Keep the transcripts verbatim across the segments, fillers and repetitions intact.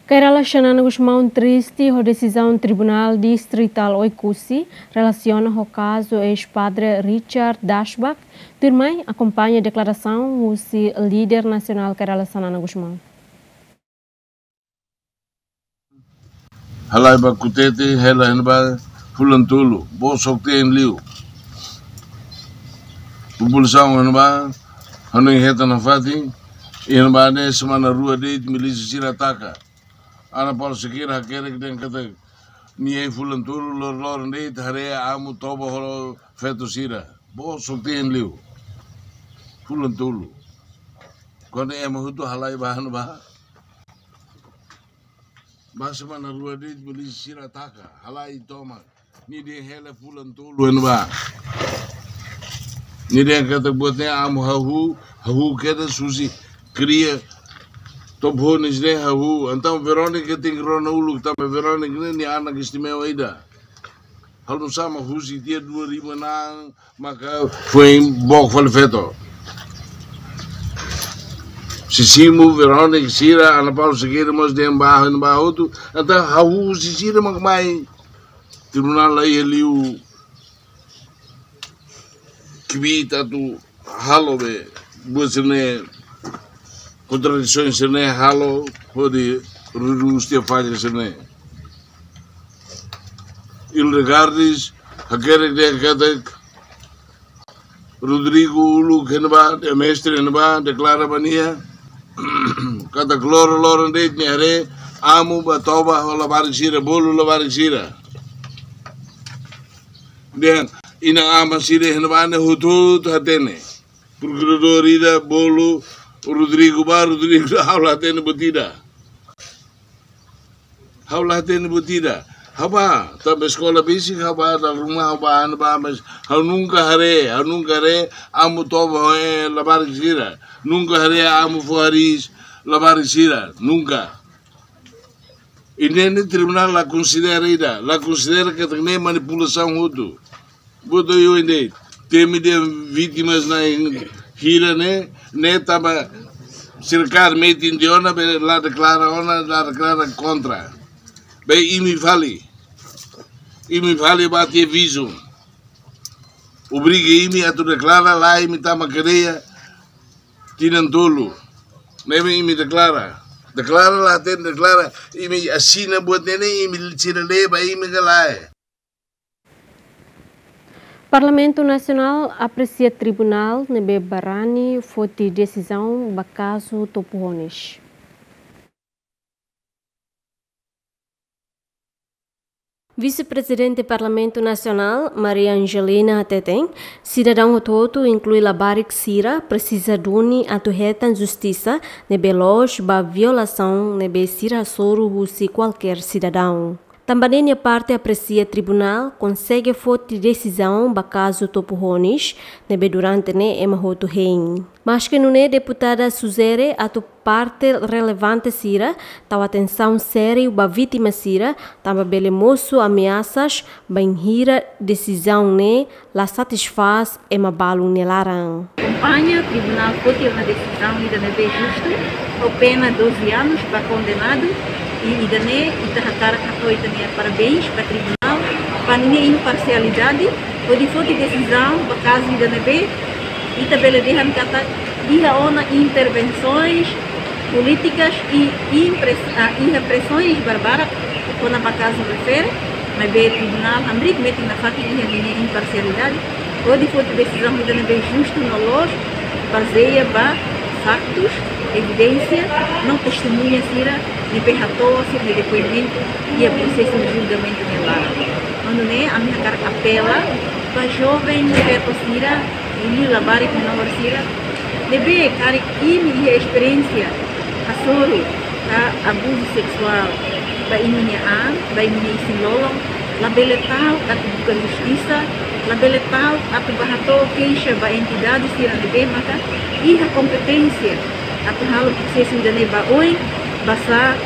Kay Rala Xanana Gusmão triste ho desizaun Tribunál Distritál Oekusi relasiona ho kazu eis-padre Richard Dashback. Tuirmai, akompaña deklarasaun husi líder nasionál Kay Rala Xanana Gusmão. Halai ba kutete, hela iha ne'ebá fulan tolu, bosok-teen liu. Populasaun iha ne'ebá, hanoin hetan nafatin, iha ne'ebá ne'e semana rua de'it milísia sira ataka. Ana Paula Sequeira hakerek dehan katak nia iha fulan tolu, lor-loron de'it haree amu toba ho feto sira. Bosok-teen liu. Fulan tolu. Kuandu ema hotu halai ba iha ne'ebá. Ba semana rua de'it milísia sira ataka, halai tomak. Nia dehan hela fulan tolu iha ne'ebá. Nia dehan katak buat ne'e amu hahú, hahú kedas husi kria Topo Honis ne'e hahú. Entaun Verónica tenke rona uluk tanba Verónica ne'e nia anak istimewa ida. Halo nu'usá mak husi tiha dua ribu enam maka foin book fali feto. Sisimu, Verónica sira, Ana Paula Sequeira mós dehan ba iha ne'ebá hotu. Entaun hahú husi sira mak mai. Tribunál la iha liu kbiit atu halo be buat sira-ne'e, kontradisaun sira-ne'e halo hodi redús tiha falla sira-ne'e. Hildegard hakerek dehan katak Rodrigo uluk iha ne'ebá, dehan mestre iha ne'ebá, deklara ba nia katak lor-loron de'it nia haree amu ba toba ho labarik sira, bolu labarik sira. Dehan inan-aman sira iha ne'ebá ne'e hotu-hotu hatene. Prokuradór ida bolu Rodrigo ba, Rodrigo dehan ha'u la hatene buat ida. Ha'u la hatene buat ida. Ha'u ba, tanba eskola besik ha'u ba, dala ruma ha'u ba, iha ne'ebá, mas ha'u nunka haree, ha'u nunka haree amu toba ho, eh, labarik sira. Nunka haree amu fó hariis labarik sira. Nunka. I ne'e ne'e tribunál la konsidera ida, la konsidera katak ne'e manipulasaun hotu. Buat oioin de'it. Temi dehan vítimas na'in hira ne'e, ne'e tanba sira kaer metin tiha ona, be la deklara ona, la deklara kontra. Be imi fali. Imi fali ba tiha vízum. Obriga imi atu deklara, la imi tama kadeia tinan tolu. Ne'ebé imi deklara. Deklara la hatene deklara, imi asina buat ne'e ne'e, imi sira lee ba imi ka lae. Parlamentu Nasionál apresia tribunál ne'ebé barani foti desizaun ba kazu Topo Honis. Vise-Prezidente Parlamentu Nasionál, Maria Angelina hateten, sidadaun hotu-hotu, inklui labarik sira, presiza duni atu hetan justisa ne'ebé loos ba violasaun ne'ebé sira hasoru husi kualkér sidadaun. Tanba ne'e nia parte apresia tribunál konsege foti desizaun ba kazu Topo Honis, ne'ebé durante ne'e ema hotu hein. Maske nune'e, deputada sujere atu parte relevante sira tau atensaun sériu ba vítima sira, tanba bele mosu ameasas bainhira desizaun ne'e la satisfás ema balu nia laran. Akompaña tribunál foti ona desizaun ida ne'ebé justu, ho pena doze anos ba kondenadu, i ida-ne'e ita hakarak hato'o ita-nia parabéns ba tribunál, ba ninia imparsialidade, hodi foti desizaun ba kazu ida ne'ebé ita bele dehan katak iha ona intervensoens polítikas i impres-, ah, iha presoens barbarak kona-ba kazu refere, maibé tribunál hamriik metin nafatin iha ninia imparsialidade, hodi foti desizaun ida ne'ebé justu no loos, bazeia ba faktus, evidénsia, no testemuña sira ne'ebé hato'o sira-nia depoimentu iha prosesu julgamentu nia laran. Nune'e, ami hakarak apela ba joven feto sira, i labarik menór sira, ne'ebé karik imi iha esperiénsia hasoru ka abuzu seksuál ba imi-nia an, ba imi-nia isin-lolon, labele ta'uk atu buka justisa, labele ta'uk atu bá hato'o keixa ba entidade sira ne'ebé maka iha kompeténsia atu halo prosesu ida-ne'e ba oin, basá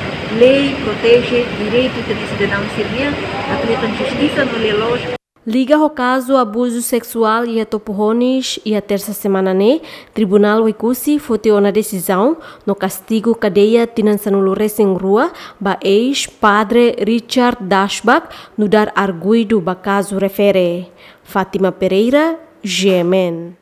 lei proteje direitu ita-nia sidadaun sira-nian atu hetan justisa no lia-loos. Liga ho kazu abuzu seksuál iha Topo Honis, iha tersa semana ne'e, Tribunál Oekusi foti ona desizaun no kastigu kadeia tinan sanulu-resin-rua ba eis-padre Richard Dashback, nu'udar arguidu ba kazu refere. Fátima Pereira, G M N.